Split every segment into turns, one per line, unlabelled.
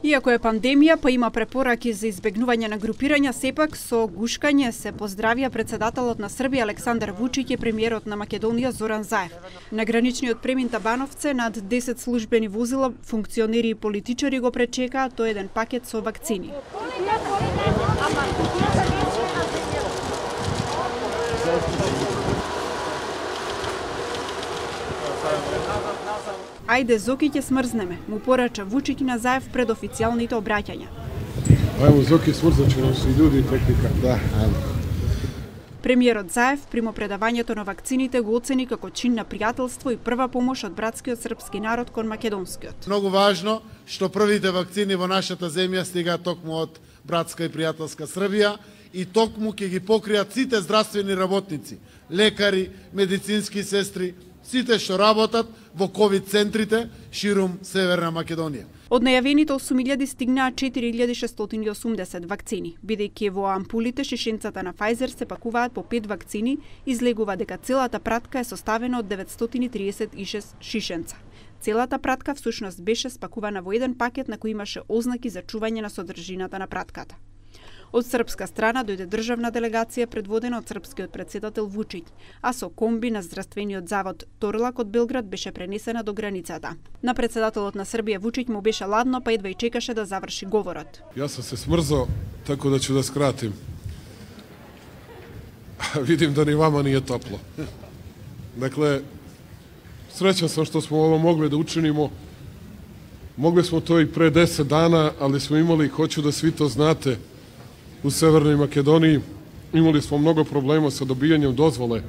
Иако е пандемија, па има препораки за избегнување на групирања, сепак со гушкање се поздравија председателот на Србија Александар Вучиќ и премиерот на Македонија Зоран Заев. На граничниот премин Табановце над 10 службени возила, функционери и политичари го пречекаат тој еден пакет со вакцини. Ајде Зоки ќе смрзнеме, му порача Вучиќ на Заев пред официјалните обраќања.
Ајмо Зоки, смрзаче се луѓе техника, да.
Премиерот Заев примо предавањето на вакцините го оцени како чин на пријателство и прва помош од братскиот српски народ кон македонскиот.
Многу важно што првите вакцини во нашата земја стигаат токму од братска и пријателска Србија и токму ќе ги покријат сите здравствени работници, лекари, медицински сестри, сите што работат во ковид центрите ширум Северна Македонија.
Од најавените 8.000 стигнаа 4.680 вакцини, бидејќи во ампулите шишенцата на Pfizer се пакуваат по 5 вакцини, излегува дека целата пратка е составена од 936 шишенца. Целата пратка всушност беше спакувана во еден пакет на кој имаше ознаки за чување на содржината на пратката. Од српска страна дојде државна делегација предводена од српскиот претседател Вучиќ, а со комби на здравствениот завод Торлак од Белград беше пренесена до границата. На председателот на Србија Вучиќ му беше ладно, па едва и чекаше да заврши говорот.
Јас сам се смрзо, така да ќе да скратим. Видим да ни вама не е топло. Dakle, srećan sam što smo ovo mogli da učinimo. Mogli smo to i pre 10 dana, ali smo imali, hoću da svi to znate, u Severnoj Makedoniji imali smo mnogo problema sa dobijanjem dozvole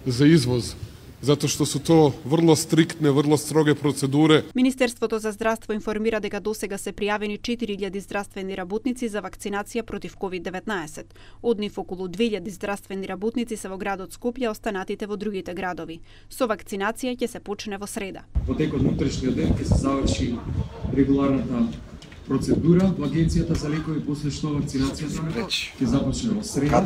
za izvoz, zato što su to vrlo striktne, vrlo stroge procedure.
Министерството за здравство информира дека досега се пријавени 4.000 здравствени работници за вакцинација против COVID-19. Од нив околу 2.000 здравствени работници се во градот Скопје, останатите во другите градови. Со вакцинација ќе се почне во среда.
Во текот на утрешниот ден ќе се заврши регуларната процедура во Агенцијата за лекови, после што вакцинацијата ќе започне во среда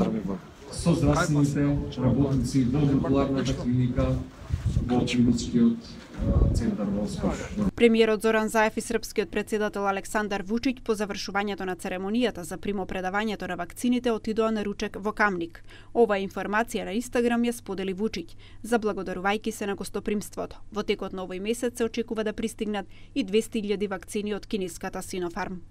со здравствените работници во модуларната клиника во клиничкиот центар во Скопје.
Премиерот Зоран Заев и српскиот претседател Александар Вучиќ по завршувањето на церемонијата за примопредавањето на вакцините отидоа на ручек во Камник. Оваа информација на Инстаграм ја сподели Вучиќ, заблагодарувајќи се на гостопримството. Во текот на овој месец се очекува да пристигнат и 200.000 вакцини од кинеската Синофарм.